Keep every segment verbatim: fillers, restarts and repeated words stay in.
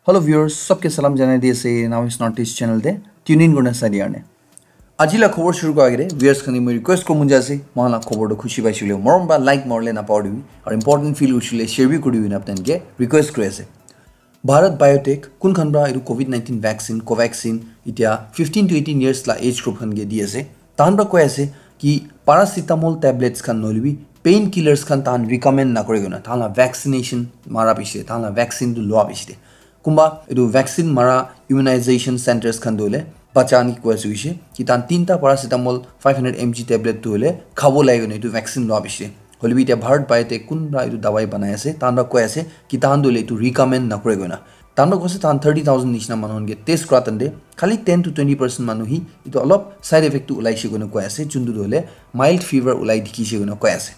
Hello viewers, sabke salam janai di ase Now is Northeast channel te tune in kurna sai diya karne. Aji la khobor shuru kora agete viewers khan ke moi request koribo mon jai ase, moikhan la khobor toh khushi paise koile morom para like marile napahoribi, aru important feel hoise koile share bi koribi koina apni khan ke request kuri ase. Bharat Biotech kun khan para etu covid nineteen vaccine Covaxin, etia fifteen to eighteen years la age group khan ke di ase. Tahan para koi ase ki paracetamol tablets khan nohoilebi pain killers khan tahan recommend nakore koina, tahan la vaccination mara piche, tahan la vaccine tu loa piche te. Kunba etu vaccine mara immunization centers khan tu hoile bacha khan ke koi ase hoise ki tahan tinta paracetamol five hundred M G tablet tu hoile khabo lage koina etu vaccine loa piche te. Hoilebi etia Bharat Biotech kun para etu dawai banai ase, tahan para koi ase ki tahan tu hoile etu recommend nakore koina. Tahan para koi ase tahan thirty thousand nishina manu khan ke test kora time te khali ten to twenty percent manu hi etu olop side effect tu ulaise koina koi ase, juntu tu hoile mild fever ulai dikhise koina koi ase.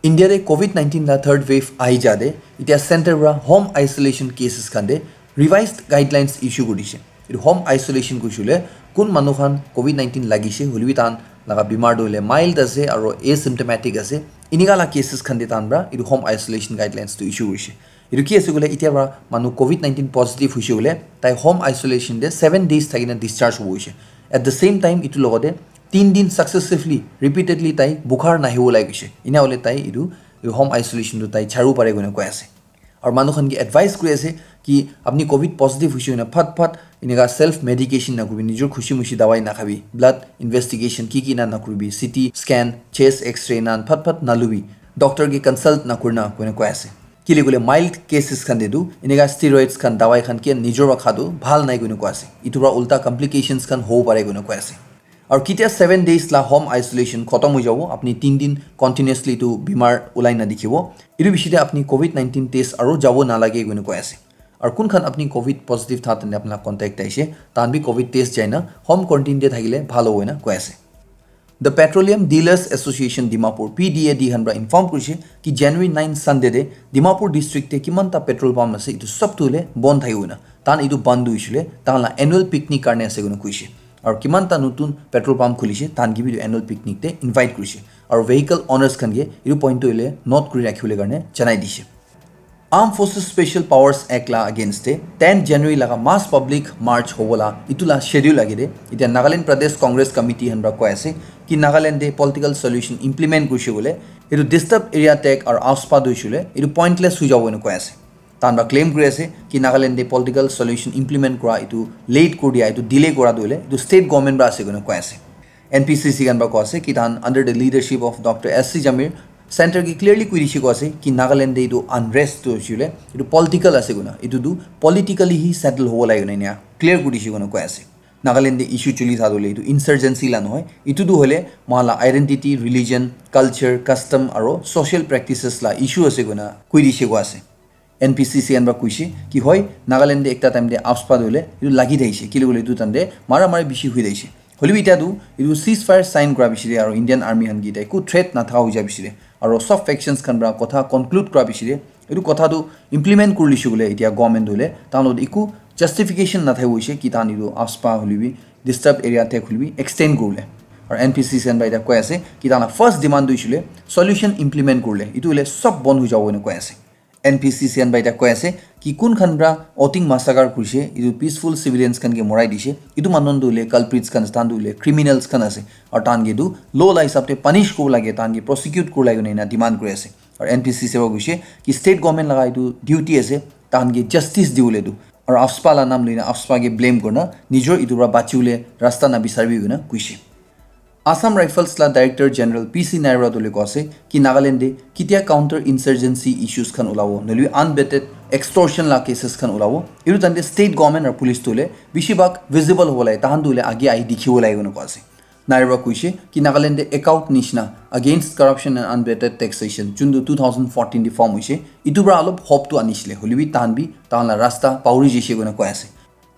India te covid nineteen la third wave ahi ja te etia center para home isolation cases khan te revised guidelines issue kuri dise. Etu home isolation koise koile kun manu khan covid nineteen lagise hoilebi tahan laga bimar tu hoile mild ase aru asymptomatic ase, enika la cases khan te tahan para etu home isolation guidelines tu issue korise. Etu ki ase koile etia para manu covid nineteen positive hoise koile tai home isolation te seven days thakina discharge hobo hoise. At the same time etu logote tin din successively repeatedly tai bukhar nahibo lage koise, ena hoile tai etu home isolation tu tai charibo pare koina koi ase. Aru manu khan ke advice kuri ase ki apni covid positive hoise koina phat phat enika self medication nakuribi, nijor khushi mushi dawai nakhabi, blood investigation ki ki na nakuribi, C T scan, chest x-ray na phat phat nalubi, doctor ke consult nakurina koina koi ase. Kile koile mild cases khan te tu enika steroids khan dawai khan ke nijor para kha tu bhal nai koina koi ase, etu para ulta complications khan hobo pare koina koi ase. Aru ketia seven days la home isolation khotom hoi jabo, apni tin din continuously tu bimar ulai na dikhibo, etu bishi te apni covid nineteen test aru jabo nalage koina koi ase. Aru kun khan apni covid positive tha tene apna contact aise, tahan bi covid test jaina home quarantine te thakile bhal hobo koina koi ase. The Petroleum Dealers Association Dimapur, P D A D khan para inform kurise ki January nine Sunday te Dimapur district te kiman ta petrol pump ase etu sob tu hoile bon thakibo koina. Tahan etu bon tu hoise koile tahan la annual picnic karne ase koina koise. Aru kiman ta notun petrol pump khulise tahan ke bi etu annual picnic te invite kurise. Aru vehicle owners khan ke etu point tu hoile note kuri rakhibole karne janai dise. Armed Forces Special Powers Act la against te ten January laga mass public march hobo la etu la schedule age de etia Nagaland Pradesh Congress Committee khan para koi ase ki Nagaland te political solution implement kurise koile etu disturbed area tag aru AFSPA tu hoise koile etu pointless hoi jabo ena koi ase. Tahan para claim kuri ase ki Nagaland te political solution implement kora etu late kuri dia, etu delay kora tu hoile etu state government para ase koina koi ase. N P C C khan para koi ase ki tahan under the leadership of Doctor S C Jamir, center ke clearly koi dise koi ase ki Nagaland te etu unrest tu hoise koile etu political ase koina, etu tu politically hi settle hobo lage koina ena clear koi dise koina koi ase. Nagaland te issue chuli tha tu hoile etu insurgency la nohoi, etu tu hoile moikhan la identity, religion, culture, custom aru social practices la issue ase koina koi dise koi ase. N P C C khan para koise ki hoi Nagaland te ekta time te AFSPA tu hoile etu lagi thakise, kile koile etu time te mara mari bishi hoi thakise. Hoilebi etia tu etu ceasefire sign kora piche te aru Indian Army khan ke etia eku threat natha hoi ja piche te aru sob factions khan para kotha conclude kora piche te etu kotha tu implement kuri lise koile etia government tu hoile tahan logot eku justification nathakibo hoise ki tahan etu AFSPA hoilebi disturbed area tag hoilebi extend kuribole. Aru N P C C khan para etia koi ase ki tahan la first demand tu hoise koile solution implement kurile, etu hoile sob bon hoi jabo ena koi ase. N P C C khan para etia koi ase ki kun khan para Oting massacre kurise, etu peaceful civilians khan ke morai dise, etu manu khan tu hoile culprits khan, tahan tu hoile criminals khan ase, aru tahan ke tu law la hisab te punish kuribo lage, tahan ke prosecute kuribo lage koina ena demand kuri ase. Aru N P C C para koise ki state government laga etu duty ase, tahan ke justice dibole tu, aru AFSPA la naam loina AFSPA ke blame kurina nijor etu para bachibole rasta nabisaribi koina koise. Assam Rifles la Director General P C Nairwa tu hoile koi ase ki Nagaland te ketia counter insurgency issues khan ulabo, nohoilebi unvetted extortion la cases khan ulabo, etu time te state government aru police tu hoile bishi bhag visible hobo lage, tahan tu hoile age ahi dikhibo lage koina koi ase. Nairwa koise ki Nagaland te ACOWT nishina, Against Corruption and Unvetted Taxation, juntu two thousand fourteen te form hoise, etu para olop hope tu anisile, hoilebi tahan bi tahan la rasta pahori jaise koina koi ase.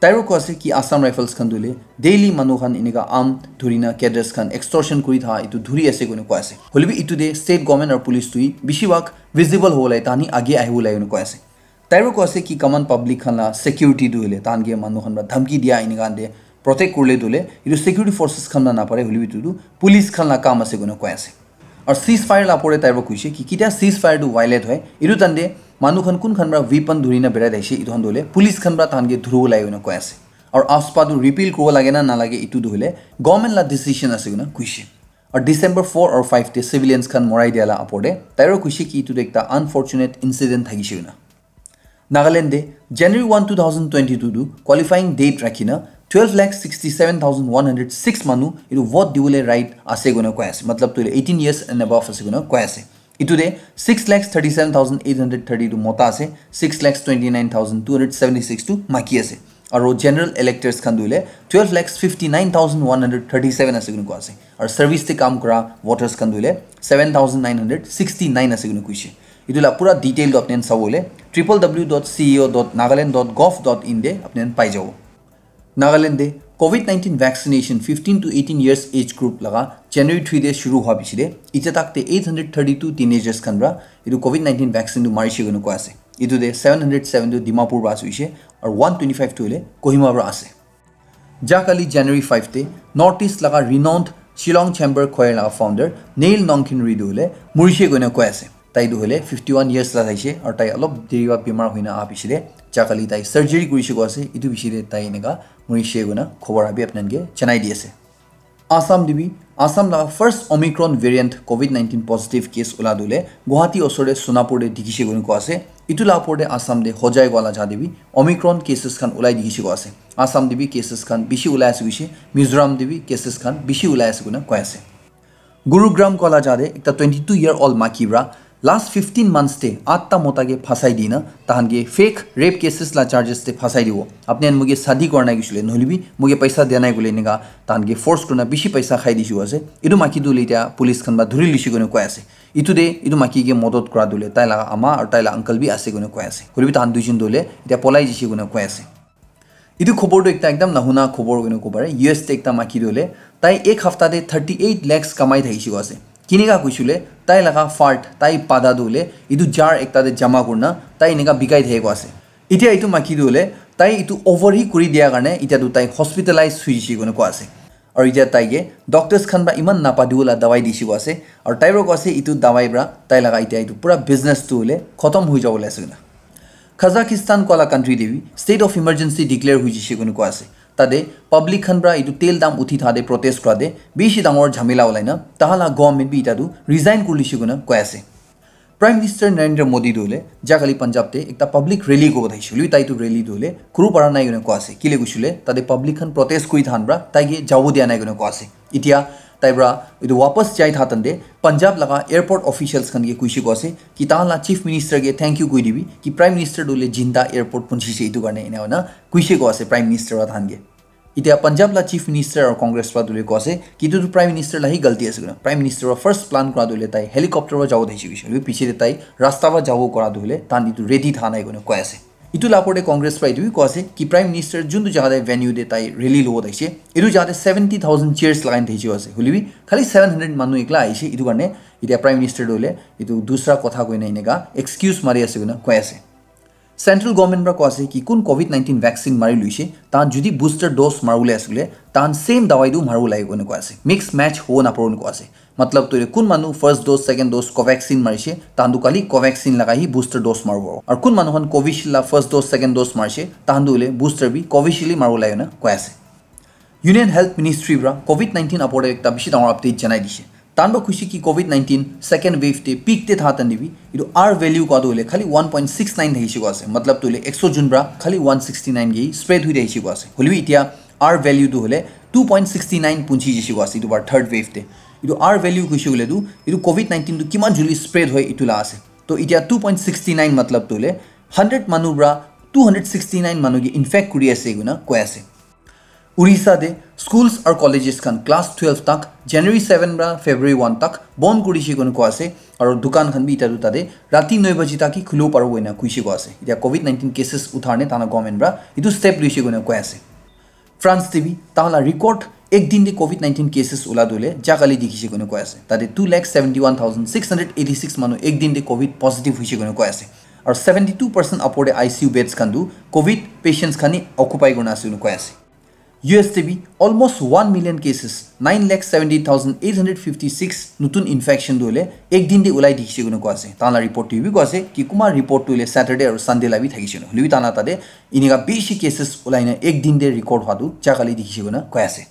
Tai para koi ase ki Assam Rifles khan tu hoile daily manu khan enika arm dhurina cadres khan extortion kuri tha etu dhuri ase koina koi ase. Hoilebi etu te state government aru police tu hi bishi bhag visible hobo lage, tahan hi age ahibo lage koina koi ase. Tai para koi ase ki common public khan la security tu hoile tahan ke manu khan para dhamki dia enika khan te protect kurile tu hoile etu security forces khan la napare, hoilebi etu tu police khan la kam ase koina koi ase. Aru ceasefire la opor te tai para koise ki ketia ceasefire tu violate hoi, etu time te Manu khan kun khan pra weapon dhuri na berai thaishe, etu khan tu hoile police khan pra tahan ke dhuribo lage koina koi ase. Aru AFSPA tu repeal kuribo lage na nalage, etu tu hoile government la decision ase koina koishe. Aru December four aru five te civilians khan morai dia la apor te tairo koishe ki etu tu ekta unfortunate incident thakishe koina. Nagaland te January one, two thousand twenty-two tu qualifying date rakhi na twelve lakh sixty-seven thousand one hundred six manu etu vote dibole right ase koina koi ase. Matlab tu eighteen years and above ase koina koi ase. Etu te six lakh thirty-seven thousand eight hundred thirty tu mota ase, six lakh twenty-nine thousand two hundred seventy-six tu maki ase. Aru general electors khan tu hoile twelve lakh fifty-nine thousand one hundred thirty-seven ase koina koi ase. Aru service te kam kura voters khan tu hoile seven thousand nine hundred sixty-nine ase koina koishe. Etu la pura detail tu apni khan sabo hoile triple W dot C E O dot nagaland dot gov dot in te apni khan pai jabo. Nagaland te COVID nineteen vaccination fifteen to eighteen years age group laga January three te shuru hua piche te, itya tak te eight hundred thirty-two teenagers khan pra etu COVID nineteen vaccine tu marishe koina koi ase. Etu te seven hundred seven tu Dimapur pra ase hoishe, aru one twenty-five tu hoile Kohima pra ase. Jakali January five te North East laga renowned Shillong Chamber Choir laga founder Neil Nongkhenri tu hoile murishe koina koi ase. Tai tu hoile fifty-one years la thaishe, aru tai olop deri pra bimar hoina aha piche te jakali tai surgery kurishe koi ase, etu piche te tai eneka murishe koina khobor abi apni khan ke janai di ase. Assam te bi, Assam laga first Omicron variant COVID nineteen positive case ula tu hoile Guwahati osor te Sonapur te dikhishe koina koi ase. Etu la apor te Assam te Hojai koa la jaga te bi Omicron cases khan ulai dikhishe koi ase. Assam te bi cases khan bishi ulai ase koishe, Mizoram te bi cases khan bishi ulai ase koina koi ase. Gurugram koa la jaga te ekta twenty-two year old maki pra last fifteen months te atta mota ke phasai dina tahan ke fake rape cases la charges te phasai dibo. Apni khan moke shadi kora nai koishe le, nohole bi moke paisa dia nai koile eneka tahan ke force kurina bishi paisa khai dishe ase. Etu maki tu hoile itya police khan pra dhuri lishe koina koi ase. Etu te etu maki ke modot kura tu hoile tai laga ama aru tai la uncle bi ase koina koi ase. Hoile bi tahan duijon tu hoile itya polai jishe koina koi ase. Etu khobor tu ekta ekdam nahuna khobor koina kobo pare. U S te ekta maki tu hoile tai ek hafta te thirty-eight lakhs kamai thakishe koi ase. Kineka koishe le tai laga fart, tai pada tu hoile etu jar ekta te jama kurina tai eneka bikai thakishe koi ase. Itya etu maki tu hoile tai etu over hi kuri dia karne itya tu tai hospitalize hoishe koina koi ase. Aru itya tai ke doctors khan pra iman napadibo la dawai dishe koi ase. Aru tai pra koi ase etu dawai pra tai laga itya etu pura business tu hoile khotom hoi jabo le ase koina. Kazakhstan koa la country te bi state of emergency declare hoi jishe koina koi ase. Tate public khan pra etu tel dam uthi thate protest kura te bishi dangor jhamela ulai na tahan la government bi itya tu resign kuri lishe koina koi ase. Prime Minister Narendra Modi tu hoile jakali Punjab te ekta public rally kobo thakishe, hoile bi tai tu rally tu hoile kuru para nai koina koi ase. Kile koishe le tate public khan protest kuri thahan pra tai ke jabo dia nai koina koi ase. Itya tai pra etu wapas jai tha tante Punjab laga airport officials khan ke koishe koi ase ki tahan la chief minister ke thank you koi dibi ki prime minister tu hoile jinda airport punchise etu karne ena hoina koishe koi ase prime minister pra tahan ke. Itya Punjab la chief minister aru Congress pra tu hoile koi ase ki etu tu prime minister la hi galti ase koina. Prime minister pra first plan kora tu hoile tai helicopter pra jabo thakishe koishe, hoile bi piche te tai rasta pra jabo kora tu hoile tahan etu ready tha nai koina koi ase. Etu la apor te Congress pra etu bi koi ase ki prime minister juntu jaga te venue te tai rally lobo thakishe, etu jaga te seventy thousand chairs lagai na thakishe koi ase, hoile bi khali seven hundred manu ekla ahishe, etu karne itya prime minister tu hoile etu dusra kotha koina eneka excuse mari ase koina koi ase. Central government pra koi ase ki kun COVID nineteen vaccine mari luishe tahan jodi booster dose maribole ase koile tahan same dawai tu maribo lage koina koi ase, mix match hobo naparibo koina koi ase. Matlab tu hoile kun manu first dose, second dose Covaxin marishe, tahan tu kali Covaxin laga hi booster dose maribo. Aru kun manu khan Covishield la first dose, second dose marishe, tahan tu hoile booster bi Covishield hi maribo lage na koi ase. Union Health Ministry pra COVID nineteen apor te ekta bishi dangor update janai dishe. Tahan pra koishe ki COVID nineteen second wave te peak te tha tande bi etu R value koi tu hoile khali one point six nine thakishe koi ase. Matlab tu hoile ekso jon pra khali one sixty nine ke spread hoi thakishe koi ase. Hoile bi itya R value tu hoile two point six nine punchi jishe koi ase etu bar third wave te. Etu R value koishe koile tu etu COVID nineteen tu kiman joldi spread hoi etu la ase. To itya two point six nine matlab tu hoile hundred manu pra two hundred sixty nine manu ke infect kuri ase koina koi ase. Orissa te schools aru colleges khan class twelve tak January seven pra February one tak bon kuri she koina koi ase, aru dukan khan bi itya tu tate rati nine baji tak hi khulibo paribo koina koishe koi ase. Itya COVID nineteen cases uthar ne tana government pra etu step luishe koina koi ase. France te bi tahan la record ek din te COVID nineteen cases ula tu hoile jakali dikhishe koina koi ase. Tate two lakh seventy one thousand six hundred eighty six manu ek din te COVID positive hoishe koina koi ase. Aru seventy two percent apor te I C U beds khan tu COVID patients khan hi occupy kurina ase koina koi ase. U S te bi almost one million cases, nine lakh seventy thousand eight hundred fifty six nutun infection tu hoile ek din te ulai dikhi se koina koa ase. Tahan la report tu bi koa ase ki kuma report tu hoile Saturday aru Sunday la bi thakise koina. Hoilebi tahan la tate inika bishi cases ulai na ek din te record hwa tu ja kali dikhi se koina koi ase.